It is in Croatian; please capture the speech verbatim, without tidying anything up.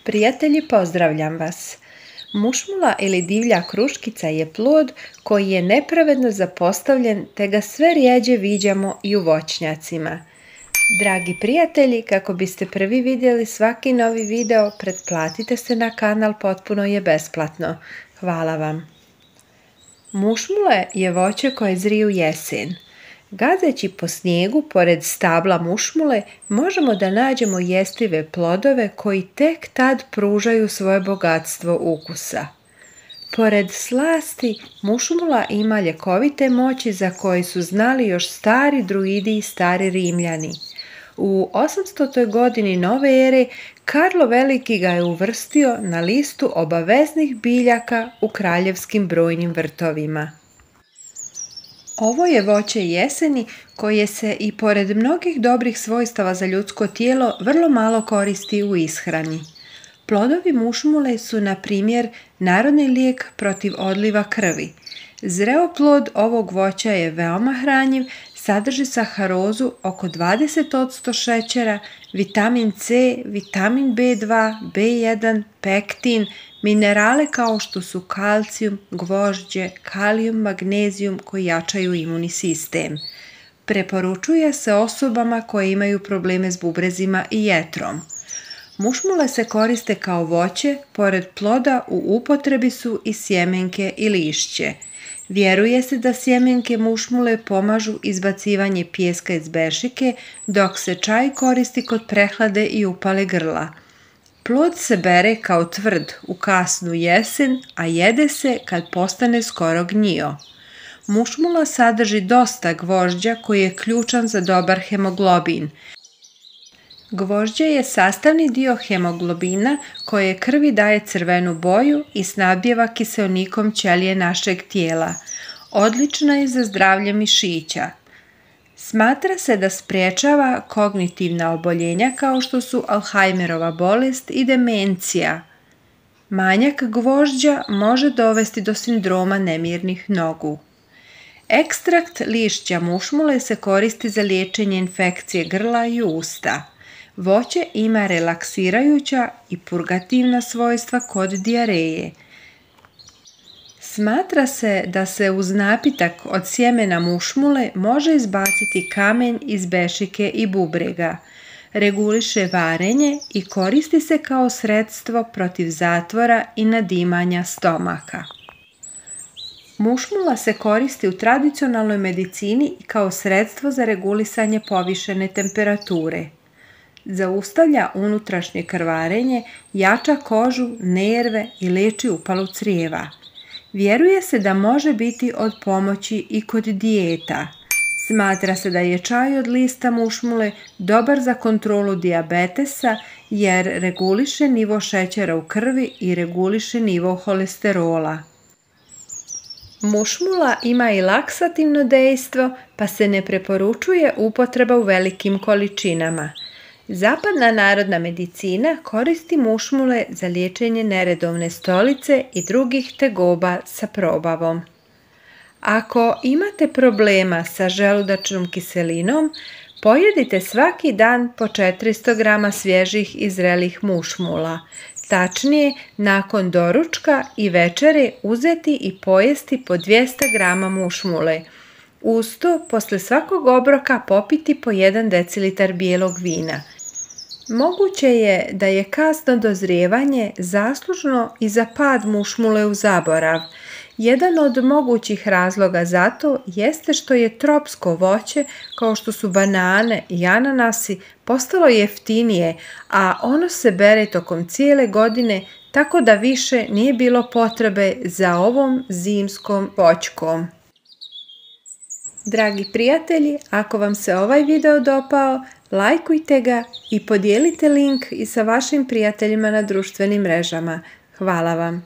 Prijatelji, pozdravljam vas! Mušmula ili divlja kruškica je plod koji je nepravedno zapostavljen te ga sve rjeđe viđamo i u voćnjacima. Dragi prijatelji, kako biste prvi vidjeli svaki novi video, pretplatite se na kanal, potpuno je besplatno. Hvala vam! Mušmule je voće koje zri u jesen. Gazeći po snijegu pored stabla mušmule možemo da nađemo jestive plodove koji tek tad pružaju svoje bogatstvo ukusa. Pored slasti, mušmula ima ljekovite moći za koje su znali još stari druidi i stari Rimljani. U osamstotoj godini nove ere Karlo Veliki ga je uvrstio na listu obaveznih biljaka u kraljevskim brojnim vrtovima. Ovo je voće jeseni koje se i pored mnogih dobrih svojstava za ljudsko tijelo vrlo malo koristi u ishrani. Plodovi mušmule su, na primjer, narodni lijek protiv odliva krvi. Zreo plod ovog voća je veoma hranjiv, sadrži saharozu oko dvadeset posto šećera, vitamin C, vitamin B dva, B jedan, pektin, minerale kao što su kalcijum, gvožđe, kalijum, magnezijum koji jačaju imunni sistem. Preporučuje se osobama koje imaju probleme s bubrezima i jetrom. Mušmule se koriste kao voće, pored ploda u upotrebi su i sjemenke i lišće. Vjeruje se da sjemenke mušmule pomažu izbacivanje pijeska iz bešike, dok se čaj koristi kod prehlade i upale grla. Plod se bere kao tvrd u kasnu jesen, a jede se kad postane skoro gnjio. Mušmula sadrži dosta gvožđa koji je ključan za dobar hemoglobin. Gvožđe je sastavni dio hemoglobina koje krvi daje crvenu boju i snabdijeva kiseonikom ćelije našeg tijela. Odlična je za zdravlje mišića. Smatra se da sprječava kognitivna oboljenja kao što su Alzheimerova bolest i demencija. Manjak gvožđa može dovesti do sindroma nemirnih nogu. Ekstrakt lišća mušmule se koristi za liječenje infekcije grla i usta. Voće ima relaksirajuća i purgativna svojstva kod dijareje. Smatra se da se uz napitak od sjemena mušmule može izbaciti kamen iz bešike i bubrega. Reguliše varenje i koristi se kao sredstvo protiv zatvora i nadimanja stomaka. Mušmula se koristi u tradicionalnoj medicini i kao sredstvo za regulisanje povišene temperature. Zaustavlja unutrašnje krvarenje, jača kožu, nerve i leči upalu crijeva. Vjeruje se da može biti od pomoći i kod dijeta. Smatra se da je čaj od lista mušmule dobar za kontrolu dijabetesa jer reguliše nivo šećera u krvi i reguliše nivo holesterola. Mušmula ima i laksativno dejstvo, pa se ne preporučuje upotreba u velikim količinama. Zapadna narodna medicina koristi mušmule za liječenje neredovne stolice i drugih tegoba sa probavom. Ako imate problema sa želudačnom kiselinom, pojedite svaki dan po četiristo grama svježih i zrelih mušmula. Tačnije, nakon doručka i večere uzeti i pojesti po dvjesto grama mušmule. Uz to, posle svakog obroka popiti po jedan decilitar bijelog vina. Moguće je da je kasno dozrijevanje zaslužno i za pad mušmule u zaborav. Jedan od mogućih razloga za to jeste što je tropsko voće, kao što su banane i ananasi, postalo jeftinije, a ono se bere tokom cijele godine, tako da više nije bilo potrebe za ovom zimskom voćkom. Dragi prijatelji, ako vam se ovaj video dopao, lajkujte ga i podijelite link i sa vašim prijateljima na društvenim mrežama. Hvala vam!